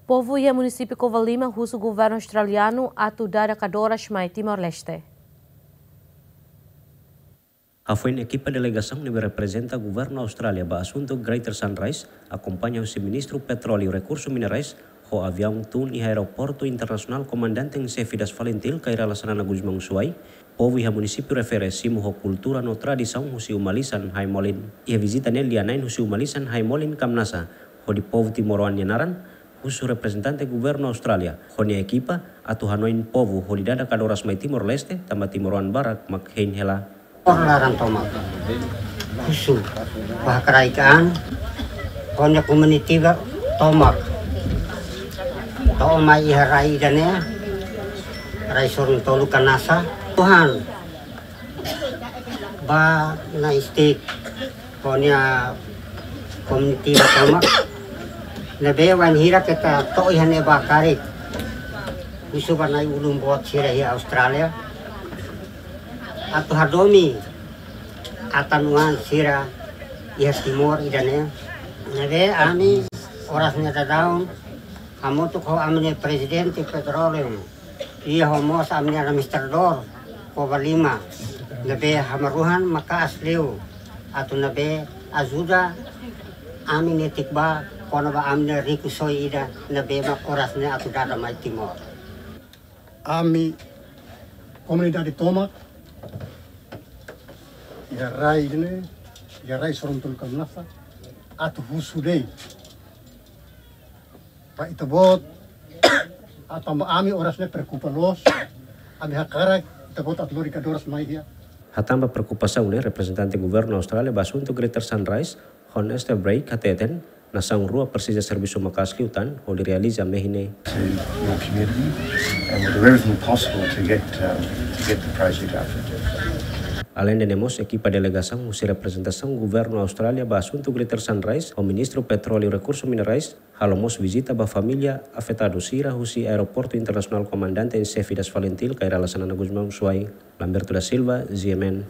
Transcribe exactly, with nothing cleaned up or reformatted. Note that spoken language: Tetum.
Povu iha munisípiu Covalima husu governu australianu atu dada kadoras mai Timor-Leste. Hafoin ekipa delegasaun ne'ebé reprezenta governu Austrália ba asuntu Greater Sunrise, akompaña husi Ministru Petróleu Rekursu Minerais, ho aviaun tun iha Aeroportu Internasionál Comandante em Chefe das FALINTIL, Kay Rala Xanana Gusmão Suai, povu iha munisípiu refere simu ho kultura no tradisaun husi uma lisan Haimolin. Iha vizita ne'e lia-na'in husi uma lisan Haimolin Kamnasa, hodi povu timoroan nia naran, husu reprezentante governu Austrália ho nia ekipa atu hanoin povu hodi dada kadoras mai Timor-Leste, tanba timoroan barak mak hein hela. Or laran tomak. Husu ba hakarak an, ho nia komunidade tomak. To'o mai iha rai ida-ne'e, rai Sorun Tolu Kamnasa. Tuhan, ba na'in-stik, ho nia komunidade tomak. Ne'ebé wainhira keta to'o iha ne'ebá karik. Husu ba na'i-ulun boot sira iha Austrália atu hadomi atan-oan sira iha Timor ida-ne'e. Ne'ebé ami oras ne'e daudaun hamutuk ho ami-nia Prezidente Petróleu, iha ho mós ami-nia administradór Covalima, ne'ebé hamaruhan maka'as liu atu ne'ebé ajuda ami netik ba kona-ba ami-nia rikusoin ida ne'ebé mak oras ne'e atu dada mai Timor. Ami komunidade tomak iha rai ne'e, iha rai Sorun Tolu Kamnasa, atu husu de'it ba ita-boot, atu tanba ami oras ne'e preokupa loos, ami hakarak ita-boot atu lori kadoras mai iha. Hatán ba preokupasaun ne'e, reprezentante governu Austrália ba asuntu Greater Sunrise, Honest Break, hateten, nasaun rua presiza servisu maka'as liután hodi realiza mehi ne'e. To your community and we'll do everything possible to get, um, to get the project out. Aleinde ne'e mós, ekipa delegasaun husi reprezentasaun governu Austrália ba asuntu Greater Sunrise, ho Ministru Petróleu Rekursu Minerais, halo mós vizita ba família afetadu sira husi Aeroportu Internasionál Comandante em Chefe das FALINTIL, Kay Rala Xanana Gusmão Suai. Lamberto da Silva, G M N.